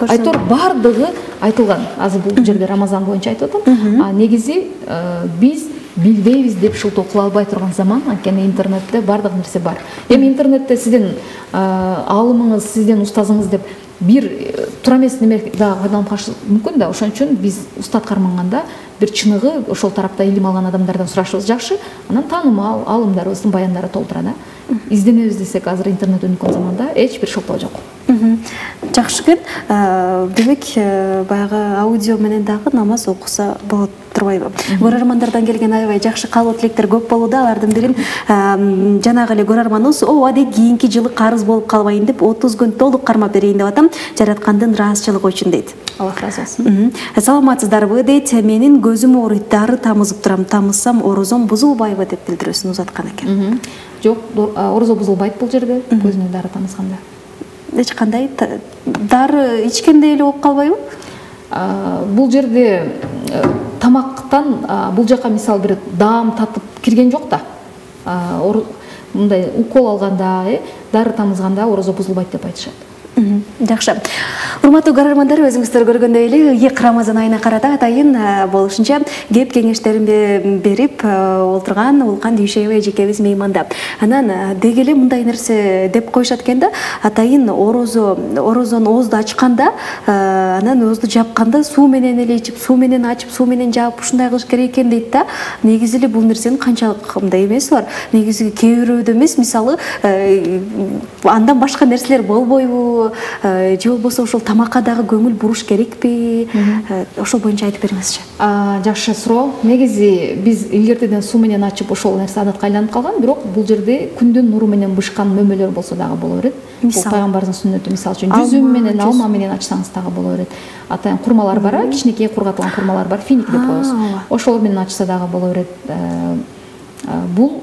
S2: айтор бардыгы айтылган. Азыр бул жерде Рамазан боюнча айтып атам. Негизи биз билбейбиз деп шылтоо кыла албай турган заман, анткени интернетте бардык нерсе бар. Эми интернетте сиздин аалымыңыз, сиздин устазыңыз деп бир туура эмес неме дагы пайдаланып калышы мүмкүн да. Ошон үчүн биз устат карманганда бир чыныгы ошол тарапта илим алган адамдардан сурашыбыз жакшы. Анан таанымал аалымдарыбыздын баяндары толтура да. изденебиз десек азыр интернет өнүккөн заманда эч бир шылтоо жок.
S1: Жакшы экен. Демек, баягы аудио менен дагы намаз окуса болот турбайбы? Көрөрмандардан келген аябай жакшы каалоо тилектер көп болууда. Алардын бирин жанагы эле көрөрманыбыз ооба дейт, кийинки жылы карыз болуп калбайын деп 30 күн толук кармап берейин деп атам, жараткандын ыраазычылыгы үчүн дейт.
S2: Аллах разы болсун.
S1: Саламатсыздарбы дейт, менин көзүм ооруйт, дары тамызып турам, тамызсам орозом бузулбайбы деп билдирүүсүн узаткан экен.
S2: Жок, орозо бузулбайт бул жерде, көзүнө дары тамызганда.
S1: Эч кандай дары ичкендей эле болуп калбайбы?
S2: Бул жерде тамактан бул жака мисалы бир даам татып кирген жок да. Мындай укол алганда, дары тамызганда орозо бузулбайт деп айтышат.
S1: Жакшы. Урматтуу көрөрмандар, өзүңүздөр көргөндөй эле ыйык Рамазан айына карата атайын болушунча кеп кеңештерин берип олтурган Улкан Дүйшөбөй эжекебиз мейманда. Анан деги эле мындай нерсе деп коюшат экен да, атайын орозону оозду ачканда, анан оозду жапканда суу менен эле ичип, суу менен ачып, суу менен жаап ушундай кылыш керек экен дейт да. Негизи эле бул нерсенин канчалык мындай эмеси бар. Негизи кээ бирөөдө эмес, мисалы андан башка нерселер болбойбу? Же болбосо ошол тамакка дагы көңүл буруш керекпи? Ошол боюнча айтып бериңизчи.
S2: Жакшы суроо. Негизи биз илгертеден суу менен ачып ошол нерсе адатка айланып калган, бирок бул жерде күндүн нуру менен бышкан мөмөлөр болсо дагы боло берет. Бул пайгамбардын сүннөтү. Мисалы үчүн жүзүм менен, алма менен ачсаңыз дагы боло берет. Атайын курмалар бар, кичинекей кургатылган курмалар бар, финик деп коебуз. Ошолор менен ачса дагы боло берет. Бул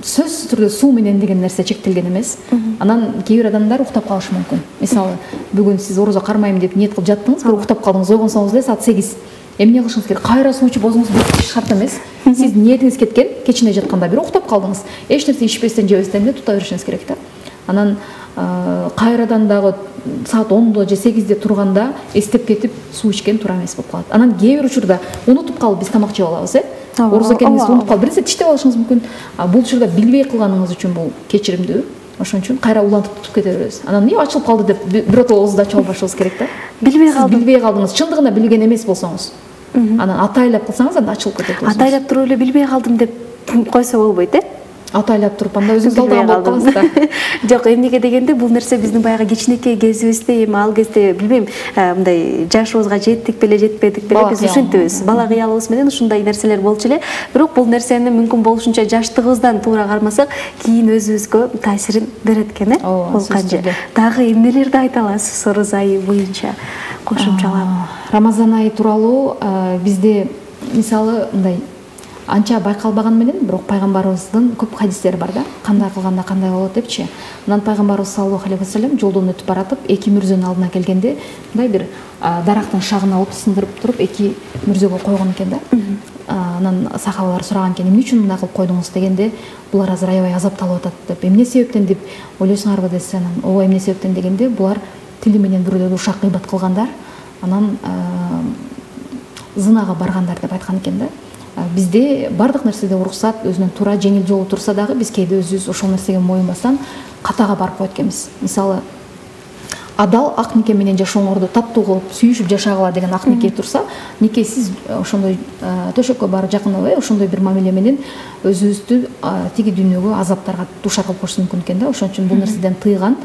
S2: сөзсүз түрдө суу менен деген нерсе чектелген эмес. Анан кээ бир адамдар уктап калышы мүмкүн. Мисалы, бүгүн сиз орозо кармайм деп ниет кылып жаттыңыз, бирок уктап калдыңыз, ойгонсоңуз эле саат 8. Эмне кылышыңыз керек? Кайра суу ичип өзүңүз бүтүш шарт эмес. Сиз ниетиңиз кеткен, кечине жатканда бирок уктап калдыңыз. Эч нерсе ичпестен, жебестен эле тута беришиңиз керек да. Анан кайрадан дагы саат 10 же 8 турганда эстеп кетип суу ичкен туура эмес болуп калат. Анан кээ бир учурда унутуп калып биз тамак жеп алабыз, орозо экениңизди унутуп калып, биринсе тиштеп алышыңыз мүмкүн. Бул учурда билбей кылганыңыз үчүн бул кечиримдүү. Ошон үчүн кайра улантып тутуп кете беребиз. Анан эмне ачылып калды деп биротоло оозду ачып албашыбыз керек да. Билбей калдыңыз, чындыгында билген эмес болсоңуз. Анан атайлап кылсаңыз анда ачылып кетет.
S1: Атайлап туруп эле билбей калдым деп койсо болбойт,
S2: Атайлап туруп анда өзүңүз алдаган болуп каласыз да.
S1: Жок, эмнеге дегенде бул нерсе биздин баягы кичинекей кезибизде, эми ал кезде билбейм, мындай жашыбызга жеттик беле, жетпедик беле, биз ушинтибиз. Бала кыялыбыз менен ушундай нерселер болчу эле. Бирок бул нерсени мүмкүн болушунча жаштыгыбыздан туура кармасак, кийин өзүбүзгө таасирин берет экен, Бул канча. Дагы эмнелерди айта аласыз орозо айы боюнча кошумчалап?
S2: Рамазан айы тууралуу бизде мисалы мындай анча байкалбаган менен, бирок пайгамбарыбыздын көп хадистери бар да. Кандай кылганда кандай болот депчи. Анан пайгамбарыбыз саллаллаху алейхи вассалам жолдон өтүп баратып, эки мүрзөнүн алдына келгенде, мындай бир дарактын шагына от сындырып туруп, эки мүрзөгө койгон экен да. Анан сахабалар сураган экен, эмне үчүн мындай кылып койдуңуз дегенде, булар азыр аябай азапталып атат деп. Эмне себептен деп ойлойсуңарбы десе, анан ооба эмне себептен дегенде, булар тили менен бирөөлөргө ушак гыйбат кылгандар, анан зынага баргандар деп айткан экен да. Бизде бардык нерседе уруксат, өзүнүн туура жеңил жолу турса дагы биз кээде өзүбүз ошол нерсеге моюнбастан катага барып коет экенбиз. Мисалы, адал ак нике менен жашооңорду таттуу кылып, сүйүшүп жашагыла деген ак нике турса, никесиз ошондой төшөккө барып жакынабай, ошондой бир мамиле менен өзүбүздү тиги дүйнөгө азаптарга дуушар кылып коюшу мүмкүн экен да. Ошон үчүн бул нерседен тыйган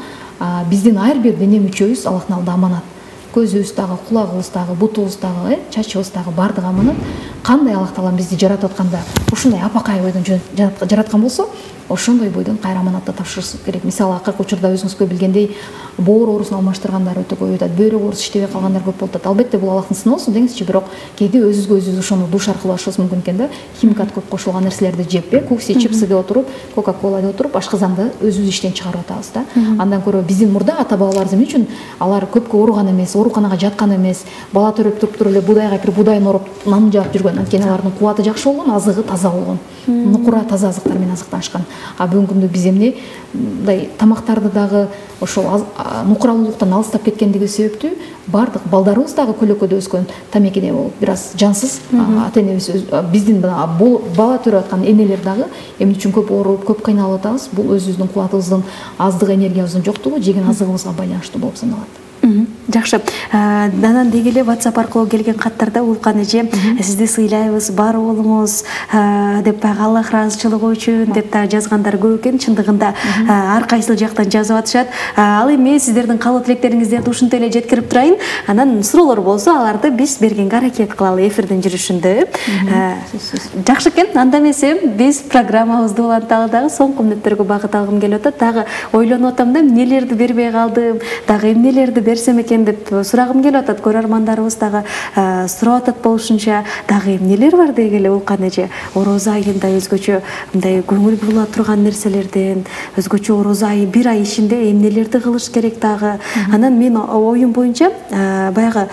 S2: биздин ар бир дене мүчөбүз Аллахтын алдында аманат. Көзүбүз дагы, кулагыбыз дагы, бутубуз дагы, чачыбыз дагы бардыгы аманат. Кандай Аллах Таалам бизди жаратып атканда, ушундай апакай бойдон жараткан болсо, ошондой бойдон кайра аманатты тапшырыш керек. Мисалы, акыркы учурда өзүңүзгө билгендей, боор оорусун алмаштыргандар өтө көп өтөт, бөйрөк ооруsu иштебей калгандар көп болуп атат. Албетте бул Аллахтын сыноосу деңизчи, бирок кээде өзүбүзгө өзүбүз ошону дуушар кылып алышыбыз мүмкүн экен да. Химикат көп кошулган нерселерди жеп, кукси, чипсы деп отуруп, кока-кола деп отуруп, ашкызанды өзүбүз иштен чыгарып атабыз да. Андан көрө биздин мурда ата-бабаларыбыз эмне үчүн алар көпкө ооруган эмес, ооруканага жаткан эмес, бала төрөп туруп эле будайга кирип будайын ороп нан жаап жүргөн. Анткени алардын кубаты жакшы болгон, азыгы таза болгон. Нукура таза азыктар менен азыктанышкан. Бүгүнкү күндө биз эмне мындай тамактарды дагы ошол нукуралуулуктан алыстап кеткендиги себептүү бардык балдарыбыз дагы көлөкөдө өскөн тамекиде болуп, бир аз жансыз ата энебиз биздин бала төрөп аткан энелер дагы эмне үчүн көп ооруп, көп кыйналып атабыз? Бул өзүбүздүн кубатыбыздын аздыгы, энергиябыздын жоктугу, жеген азыгыбызга байланыштуу болуп саналат.
S1: Жакшы. Анан деги эле WhatsApp аркылуу келген каттарда Улкан эже сизди сыйлайбыз, бар болуңуз деп Аллах ыраазычылыгы үчүн деп жазгандар көп экен. Чындыгында ар кайсы жактан жазып атышат. Ал эми сиздердин каалоо тилектериңиздерди ушунтип эле жеткирип турайын. Анан суроолор болсо аларды биз бергенге аракет кылалы эфирдин жүрүшүндө. Жакшы экен. Анда эмесе биз программабызды уланталы дагы соңку мүнөттөргө багыт алгым келип атат. Дагы ойлонуп атам да, эмнелерди бербей калдым, дагы эмнелерди берсем экен деп сурагым келип атат. Көрөрмандарыбыз дагы сурап атат болушунча, дагы эмнелер бар деги эле Улкан эже. Орозо айында өзгөчө мындай көңүл була турган нерселерден, өзгөчө орозо айы бир ай ичинде эмнелерди кылыш керек дагы. Анан мен оюм боюнча баягы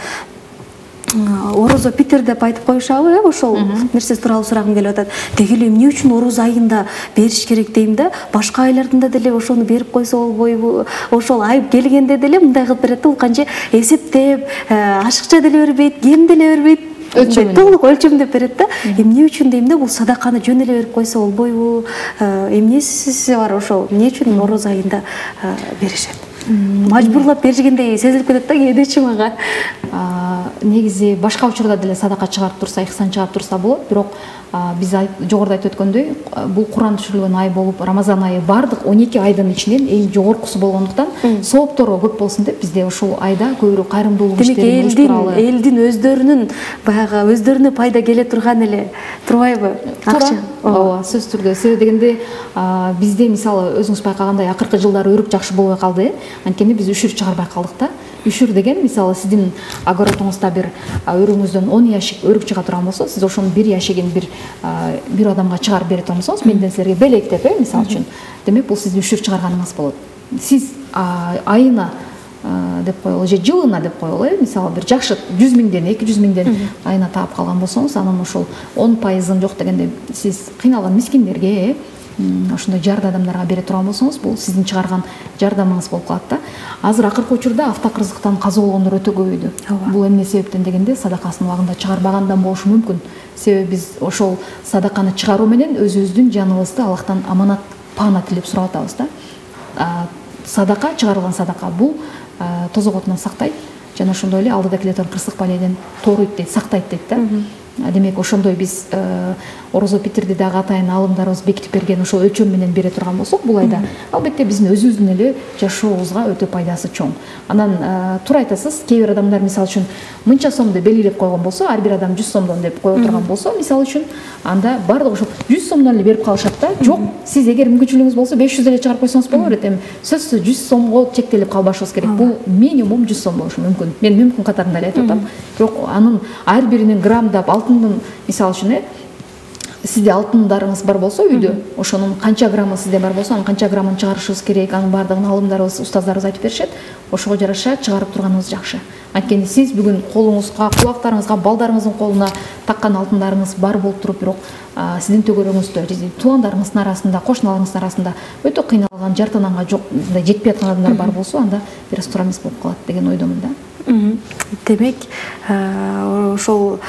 S1: орозо питер деп айтып коюшабы, ошол нерсе тууралуу сурагым келип атат. Деги эле эмне үчүн орозо айында бериш керек дейм да, башка айларында деле ошону берип койсо болбойбу? Ошол ай келгенде деле мындай кылып берет да, Улканчы эсептеп, ашыкча деле бербейт, кем деле бербейт. Толук өлчөмдөп берет да. Эмне үчүн дейм да, бул садаканы жөн эле берип койсо болбойбу? Эмнеси бар ошол? Эмне үчүн орозо айында беришет? Мажбурлап бергендей сезилип кетет да кээдечи мага.
S2: Негизи башка учурда деле садака чыгарып турса, ихсан чыгарып турса болот, бирок биз жогоруда айтып өткөндөй, бул Куран түшүрүлгөн ай болуп, Рамазан айы бардык 12 айдын ичинен эң жогоркусу болгондуктан, сооптору көп болсун деп бизде ушул айда көбүрөөк кайрымдуулук иштерин уюштуралы.
S1: Элдин өздөрүнүн баягы өздөрүнө пайда келе турган эле турбайбы? Акча.
S2: Ооба, сөзсүз түрдө. Себеби дегенде бизде мисалы өзүңүз байкагандай акыркы жылдары өрүк жакшы болбой калды. Анткени биз үшүр чыгарбай калдык да. Үшүр деген мисалы сиздин огородуңузда бир өрүңүздөн 10 ящик өрүк чыга турган болсо, сиз ошонун бир ящигин бир адамга чыгарып бере турсаңыз, менден силерге белектеп, мисалы үчүн. Демек, бул сиздин үшүр чыгарганыңыз болот. Сиз айына деп коелу, же жылына деп коелу, мисалы бир жакшы 100 миңден 200 миңден айына таап калган болсоңуз, анын ошол 10% жок дегенде сиз кыйналган мискиндерге, ошондой жарды адамдарга бере турган болсоңуз, бул сиздин чыгарган жардамыңыз болуп калат да. Азыр акыркы учурда автокырсыктан каза болгондор өтө көбөйдү. Бул эмне себептен дегенде, садакасын убагында чыгарбагандан болушу мүмкүн. Себеби биз ошол садаканы чыгаруу менен өзүбүздүн жаныбызды Аллахтан аманат, паана тилеп сурап атабыз да. Садака, чыгарылган садака бул тозок отунан сактайт, жана ошондой эле алдыда келе турган кырсык палейден торуйт дейт, сактайт дейт да. Демек, ошондой биз орозо питирди дагы атайын алымдарыбыз бекитип берген ошол өлчөм менен бере турган болсок, бул айда албетте биздин өзүбүздүн эле жашообузга өтө пайдасы чоң. Анан туура айтасыз, кээ бир адамдар мисалы үчүн мынча сомду белгилеп койгон болсо, ар бир адам 100 сомдон деп кое турган болсо, мисалы үчүн анда бардык ошол 100 сомдон эле берип калышат да. Жок, сиз эгер мүмкүнчүлүгүңүз болсо 500 эле чыгарып койсоңуз боло берет. Эми сөзсүз 100 сомго чектелип калбашыбыз керек. Бул минимум 100 сом болушу мүмкүн. Мен мүмкүн катарында эле айтып атам. Бирок анын ар биринин граммдап алтындын, мисалы үчүн сизде алтындарыңыз бар болсо үйдө, ошонун канча граммы сизде бар болсо, анын канча граммын чыгарышыбыз керек, анын бардыгын алымдарыбыз, устаздарыбыз айтып беришет. Ошого жараша чыгарып турганыбыз жакшы. Анткени сиз бүгүн колуңузга, кулактарыңызга, балдарыңыздын колуна таккан алтындарыңыз бар болуп туруп, бирок сиздин төгөрөңүздө, туугандарыңыздын арасында, кошуналарыңыздын арасында өтө кыйналган, жартананга жок, жетпей аткан адамдар бар болсо, анда бир аз туура эмес болуп калат деген ойдомун да.
S1: Демек, ошол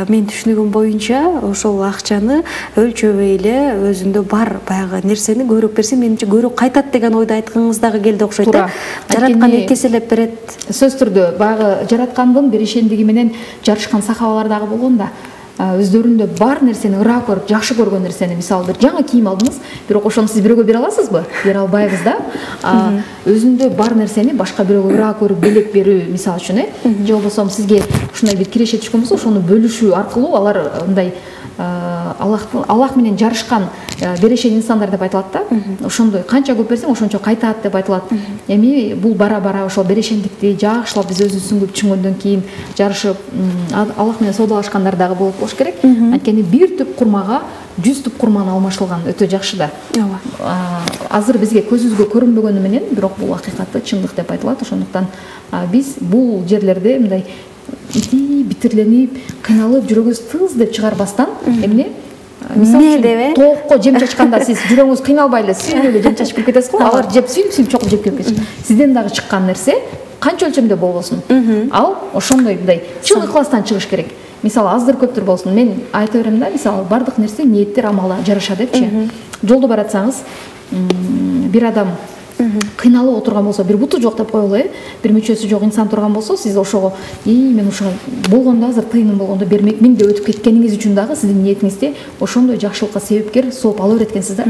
S1: мен түшүнүгүм боюнча, ошол акчаны өлчөбөй эле өзүндө бар баягы нерсени көбүрөөк берсе, менимче көбүрөөк кайтат деген ойду айтканыңыз дагы келди окшойт да. Жараткан экеселеп берет.
S2: Сөз түрдө баягы жараткандын беришендиги менен жарышкан сахабалар дагы болгон да. Өздөрүндө бар нерсени ыраа көрүп, жакшы көргөн нерсени, мисалы бир жаңы кийим алдыңыз, бирок ошону сиз бирөөгө бере аласызбы? Бере албайбыз да. Өзүндө бар нерсени башка бирөөгө ыраа көрүп, белек берүү, мисалы үчүн, же болбосо сизге ушундай бир киреше түшкөн болсо, ошону бөлүшүү аркылуу алар мындай Аллах менен жарышкан берешен инсандар деп айтылат да. Ошондой канча көп берсең, ошончо кайтат деп айтылат. Эми бул бара-бара ошол берешендикти жакшылап биз өзүбүз түшүнгөндөн кийин жарышып, Аллах менен соодалашкандар дагы болуп болуш керек. Анткени бир түп курмага 100 түп курманы алмашылган өтө жакшы да. Азыр бизге көзүбүзгө көрүнбөгөнү менен, бирок бул акыйкатты, чындык деп айтылат. Ошондуктан биз бул жерлерде мындай битирленип, кыйналып, жүрөгүбүз тыз деп чыгарбастан, эмне? Мисалы, тоокко жем чачканда сиз жүрөгүңүз кыйналбай эле сүйүп эле жем чачып кирип кетесиз го, алар жеп сүйүп чокуп жеп кетет. Сизден дагы чыккан нерсе канча өлчөмдө болбосун, ал ошондой мындай чын ыкластан чыгыш керек. Мисалы, аздыр көптүр болсун, мен айта берем да, мисалы, бардык нерсе ниеттер амалга жараша депчи. Жолдо баратсаңыз, бир адам кыйналып отурган болсо, бир буту жок деп коелу, бир мүчөсү жок инсан турган болсо, сиз ошого мен ушуга болгондо азыр тыйыным болгондо бермекмин деп өтүп кеткениңиз үчүн дагы сиздин ниетиңизде ошондой жакшылыкка себепкер сооп ала берет экенсиз да.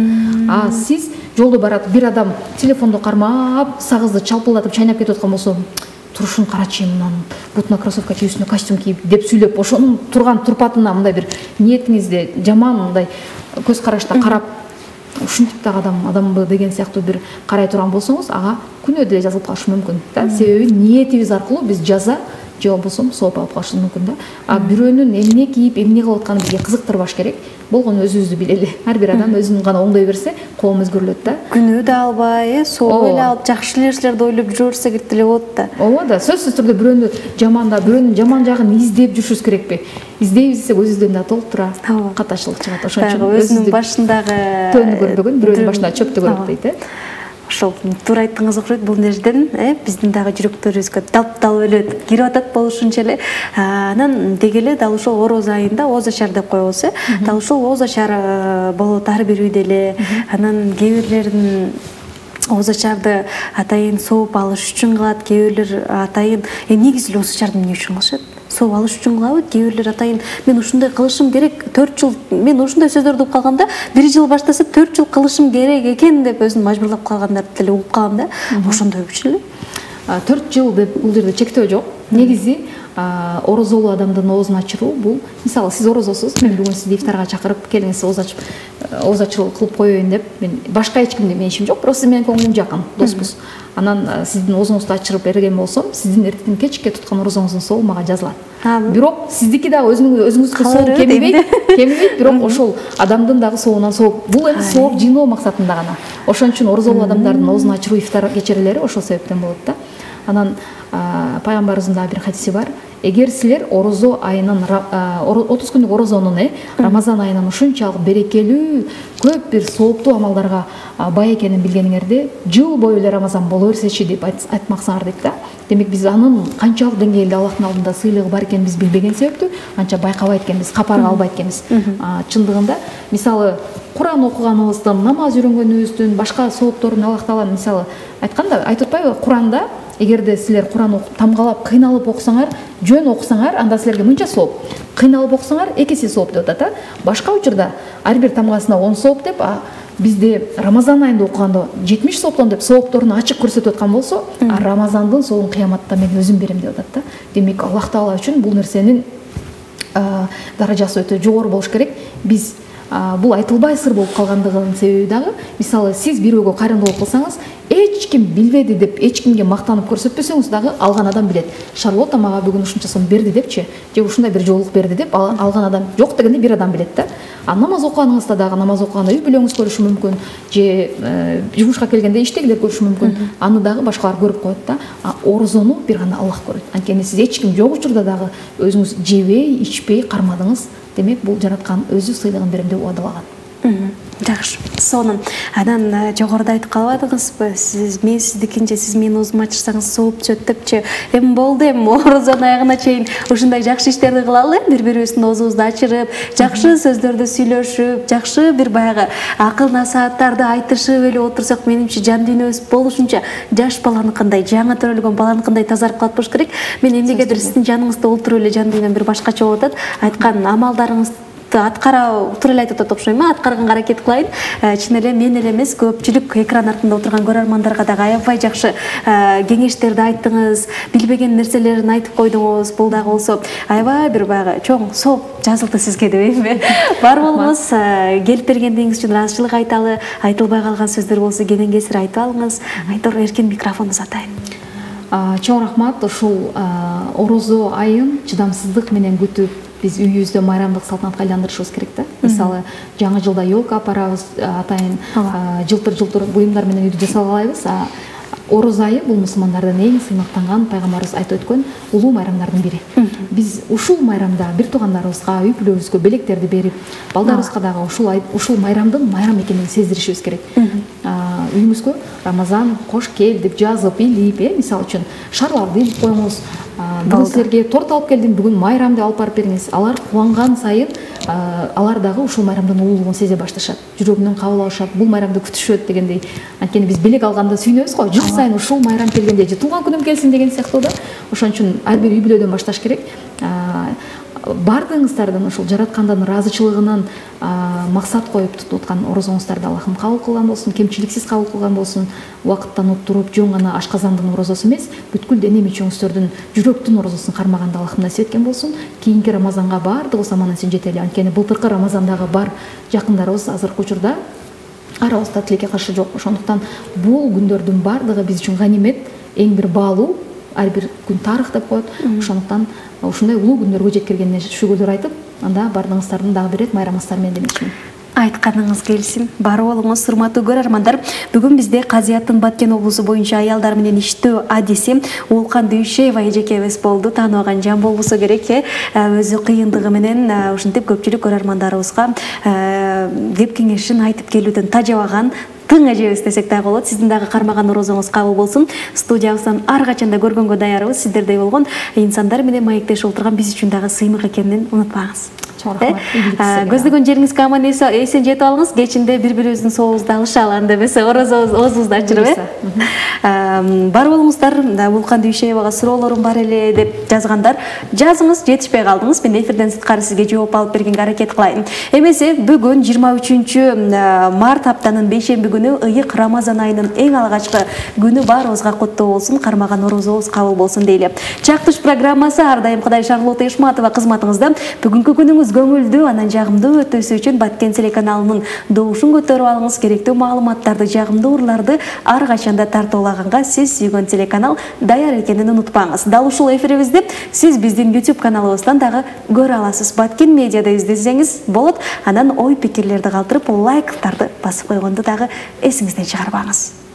S2: А сиз жолдо барат бир адам телефонду кармап, сагызды чалпылдатып чайнап кетип аткан болсо, турушун карачы, мынанын бутуна кроссовка кийип, үстүнө костюм кийип деп сүйлөп, ошонун турган турпатына мындай бир ниетиңизде жаман мындай көз карашта карап, ушинтип дагы адамбы деген сыяктуу бир карай турган болсоңуз, ага күнөө деле жазылып калышы мүмкүн да. Себеби ниетибиз аркылуу биз жаза же болбосо сооп алып калышыбыз мүмкүн да. А бирөөнүн эмне кийип, эмне кылып атканын бизге кызыктырбаш керек. Болгону өзүбүздү билели. Ар бир адам өзүн гана оңдой берсе, коом өзгөрүлөт да.
S1: Күнөө да албай, сооп эле алып, жакшы нерселерди ойлоп жүрө берсек деле болот да.
S2: Ооба да, сөзсүз түрдө бирөөнү жамандап, бирөөнүн жаман жагын издеп жүрүшүбүз керекпи? Издейбиз десек өзүбүздөн да толтура катачылык чыгат. Ошон үчүн
S1: өзүнүн башындагы
S2: төөнү көрбөгөн, бирөөнүн башында чөптү көрөт дейт.
S1: Ошол туура айттыңыз окшойт. Бул нерседен биздин дагы жүрөктөрүбүзгө дал өлөт кирип атат болушунча эле. Анан деги эле дал ушул ороз айында ооз ачар деп коебуз. Дал ушул ооз ачар болот ар бир үйдө эле. Анан кээ бирлердин ооз ачарды атайын сооп алыш үчүн кылат, кээ бирлер атайын негизи эле ооз ачарды эмне үчүн кылышат? Сооп алыш үчүн кылабы? Кээ бирлер атайын мен ушундай кылышым керек, 4 жыл мен ушундай сөздөрдү угуп калганда, 1 жыл баштаса 4 жыл кылышым керек экен деп өзүн мажбурлап калгандарды деле угуп калам да. Ошондойчу эле. 4 жыл деп бул жерде чектөө жок. Негизи орозолуу адамдын оозун ачыруу бул, мисалы сиз орозосуз, мен бүгүн сизди ифтарга чакырып, келиңиз ооз ачыруу кылып коеюн деп, мен башка эч кимге менин ишим жок, бирок сиз менен көңүлүм жакын, доспуз. Анан сиздин оозуңузду ачырып берген болсом, сиздин эртең кечке туткан орозоңуздун сообу мага жазылат. Бирок сиздики дагы өзүңүзгө сооп кемибейт, бирок ошол адамдын дагы сообунан сооп. Бул эми сооп жыйноо максатында гана. Ошон үчүн орозолуу адамдардын оозун ачыруу ифтар кечерелери ошол себептен болот да. Анан пайгамбарыбыздын дагы бир хадиси бар. Эгер силер орозо айынын 30 күндүк орозонун Рамазан айынын ушунчалык берекелүү, көп бир сооптуу амалдарга бай экенин билгениңерде, жыл бою эле Рамазан боло берсечи деп айтмаксыңар дейт да. Демек биз анын канчалык деңгээлде Аллахтын алдында сыйлыгы бар экенин биз билбеген себептүү анча байкабайт экенбиз, капарга албайт экенбиз. Чындыгында мисалы Куран окуганыбыздын, намаз үйрөнгөнүбүздүн, башка соопторун Аллах Таала мисалы айтканда, айтып атпайбы? Куранда эгерде силер Куран окуп, тамгалап, кыйналып окусаңар, жөн окусаңар, анда силерге мынча сооп. Кыйналып окусаңар, 2 эсе сооп деп атат. Башка учурда ар бир тамгасына 10 сооп деп, бизде Рамазан айында окуганда 70 сооптон деп соопторун ачык көрсөтүп аткан болсо, Рамазандын сообун кыяматта мен өзүм берем деп атат да. Демек Аллах Таала үчүн бул нерсенин даражасы өтө жогору болуш керек. Биз бул айтылбай сыр болуп калгандыгынын себеби дагы, мисалы сиз бирөөгө кайрымдуулук кылсаңыз, эч ким билбеди деп эч кимге мактанып көрсөтпөсөңүз дагы алган адам билет. Шарлотта мага бүгүн ушунча сом берди депчи, же ушундай бир жолук берди деп алган адам жок дегенде бир адам билет да. Намаз окуганыңызда дагы, намаз окуганда үй бүлөңүз көрүшү мүмкүн, же жумушка келгенде иштегилер көрүшү мүмкүн. Аны дагы башкалар көрүп коет да. Орозону бир гана Аллах көрөт. Анткени сиз эч ким жок учурда дагы өзүңүз жебей, ичпей кармадыңыз. Демек бул жараткан өзү сыйлыгын берем деп уадалаган. Жакшы. Сонун. Анан жогоруда айтып калбадыңызбы? Мен сиздикинче, сиз менин оозумду ачырсаңыз сооп түшөт депчи. Эми болду, эми орозонун аягына чейин ушундай жакшы иштерди кылалы, бири-бирибиздин оозубузду ачырып, жакшы сөздөрдү сүйлөшүп, жакшы бир баягы акыл насааттарды айтышып эле отурсак, менимче жан дүйнөбүз болушунча жаш баланыкындай, жаңы төрөлгөн баланыкындай тазарып калып болуш керек. Мен эмнегедир сиздин жаныңызда отуруп эле жан дүйнөм бир башкача болуп атат. Айткан амалдарыңыз аткара туура эле айтып атат окшойм, аткарганга аракет кылайын. Чын эле мен эле эмес, көпчүлүк экран артында отурган көрөрмандарга дагы аябай жакшы кеңештерди айттыңыз, билбеген нерселерин айтып койдуңуз. Бул дагы болсо аябай бир баягы чоң сооп жазылды сизге дейбизби? Бар болуңуз, келип бергендигиңиз үчүн ыраазычылык айталы. Айтылбай калган сөздөр болсо кенен кесир айтып алыңыз. Айтор эркин микрофонду сатайын.
S2: Чоң рахмат. Ушул орозо айын чыдамсыздык менен күтүп биз үйүбүздө майрамдык салтанатка айландырышыбыз керек да. Мисалы, жаңы жылда елка апарабыз, атайын жылтыр буюмдар менен үйдү жасалгалайбыз. Ороз айы бул мусулмандардын эң сыймыктанган, пайгамбарыбыз айтып өткөн улуу майрамдардын бири. Биз ушул майрамда бир туугандарыбызга, үй бүлөбүзгө белектерди берип, балдарыбызга дагы ушул майрамдын майрам экенин сездиришибиз керек. үйүңүзгө Рамазан кош кел деп жазып илип, мисалы үчүн шарларды илип коюңуз. Бүгүн силерге торт алып келдим, бүгүн майрамды алып барып бериңиз. Алар кубанган сайын алар дагы ушул майрамдын улуулугун сезе башташат. Жүрөгүнөн кабыл алышат, бул майрамды күтүшөт дегендей. Анткени биз белек алганда сүйүнөбүз го, жыл сайын ушул майрам келгенде же туулган күнүм келсин деген сыяктуу да. Ошон үчүн ар бир үй бүлөдөн башташ керек. Бардыгыңыздардын ушул жараткандын ыраазычылыгынан максат коюп тутуп аткан орозоңуздарды Аллахым кабыл кылган болсун, кемчиликсиз кабыл кылган болсун. Убакыттан туруп жөн гана ашказандын орозосу эмес, бүткүл дене мүчөңүздөрдүн жүрөктүн орозосун кармаганды Аллахым насип эткен болсун. Кийинки Рамазанга бардыгыбыз аман эсен жетели. Анткени былтыркы Рамазандагы бар жакындарыбыз азыркы учурда арабызда тилекке каршы жок. Ошондуктан бул күндөрдүн бардыгы биз үчүн ганимет, эң бир баалуу, ар бир күн тарых деп коет. Ошондуктан ушундай улуу күндөргө жеткиргенине шүгүрлөр айтып, анда бардыгыңыздардын дагы бир рет майрамыңыздар менен демекчимин.
S1: Айтканыңыз келсин. Бар болуңуз, урматтуу көрөрмандар. Бүгүн бизде Казияттын Баткен облусу боюнча аялдар менен иштөө адиси Улкан Дүйшеева эжекебиз болду. Тааныбаган жан болбосо керек, өзү кыйындыгы менен ушинтип көпчүлүк көрөрмандарыбызга кеп кеңешин айтып келүүдөн тажабаган тың эжебиз десек дагы болот. Сиздин дагы кармаган орозоңуз кабыл болсун. Студиябыздан ар качанда көргөнгө даярбыз. Сиздердей болгон инсандар менен маектешип отурган биз үчүн дагы сыймык экенин унутпаңыз. Көздөгөн жериңизге аман эсен жетип алыңыз. Кечинде бири-бирибиздин сообузду алышалы, анда эмесе оозубузду ачырып, бар болуңуздар. Улкан Дүйшеевага суроолорум бар эле деп жазгандар. Жазыңыз, жетишпей калдыңыз. Мен эфирден сырткары сизге жооп алып бергенге аракет кылайын. Эмесе бүгүн 23 март аптанын 5-шемби күнү ыйык Рамазан айынын эң алгачкы күнү баарыбызга куттуу болсун, кармаган орозобуз кабыл болсун дейли. Чактыш программасы ар дайым Кудай Шарлота Ишматова кызматыңызда. Бүгүнкү күнүңүз көңүлдүү, анан жагымдуу өтүүсү үчүн Баткен телеканалынын добушун көтөрүп алыңыз. Керектүү маалыматтарды, жагымдуу урларды ар качанда тартуулаганга сиз сүйгөн телеканал даяр экенин унутпаңыз. Дал ушул эфирибизди сиз биздин YouTube каналыбыздан дагы көрө аласыз. Баткен медиада издесеңиз болот. Анан ой пикирлерди калтырып, лайктарды басып койгонду дагы эсиңизден чыгарбаңыз.